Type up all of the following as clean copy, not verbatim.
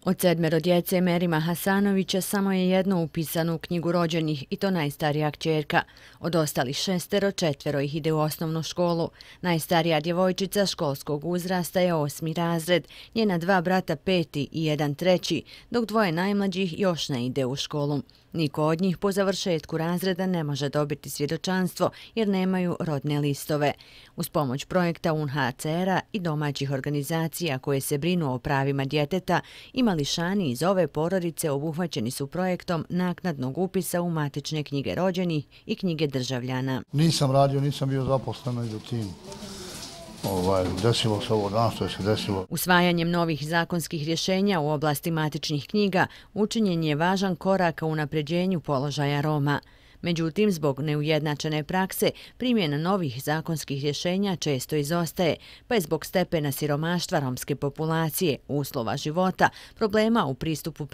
Od 7 djece Merima Hasanovića samo je jedno upisano u knjigu rođenih i to najstarija kćerka. Od ostalih 6, 4 ih ide u osnovnu školu. Najstarija djevojčica školskog uzrasta je 8. razred, njena 2 brata 5. i 1 3, dok 2 najmlađih još ne ide u školu. Niko od njih po završetku razreda ne može dobiti svjedočanstvo jer nemaju rodne listove. Uz pomoć projekta UNHCR-a i domaćih organizacija koje se brinu o pravima djeteta i mališani iz ove porodice obuhvaćeni su projektom naknadnog upisa u matične knjige rođenih i knjige državljana. Nisam radio, nisam bio zaposlen među tim. Desilo se ovo danas što je se desilo. Usvajanjem novih zakonskih rješenja u oblasti matičnih knjiga učinjen je važan korak u unapređenju položaja Roma. Međutim, zbog neujednačene prakse, primjena novih zakonskih rješenja često izostaje, pa je zbog stepena siromaštva romske populacije, uslova života, problema u pristupu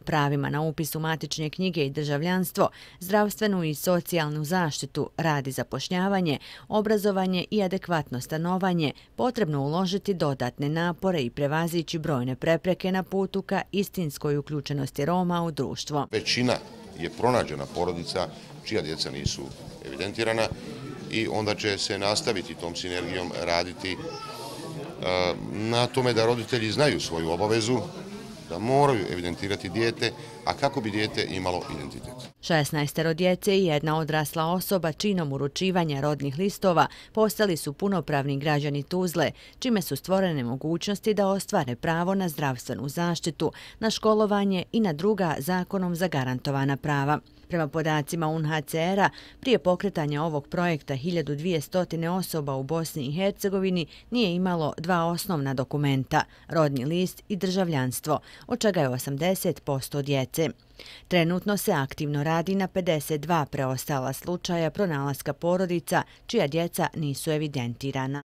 pravima na upis u matične knjige i državljanstvo, zdravstvenu i socijalnu zaštitu, rad i zapošljavanje, obrazovanje i adekvatno stanovanje, potrebno uložiti dodatne napore i prevazići brojne prepreke na putu ka istinskoj uključenosti Roma u društvo. Većina je pronađena porodica čija djeca nisu evidentirana i onda će se nastaviti tom sinergijom raditi na tome da roditelji znaju svoju obavezu, da moraju evidentirati dijete, a kako bi dijete imalo identitet. 16 djece i 1 odrasla osoba činom uručivanja rodnih listova postali su punopravni građani Tuzle, čime su stvorene mogućnosti da ostvare pravo na zdravstvenu zaštitu, na školovanje i na druga zakonom zagarantovana prava. Prema podacima UNHCR-a, prije pokretanja ovog projekta 1200 osoba u Bosni i Hercegovini nije imalo 2 osnovna dokumenta, rodni list i državljanstvo, od čega je 80% djece. Trenutno se aktivno radi na 52 preostala slučaja pronalaska porodica čija djeca nisu evidentirana.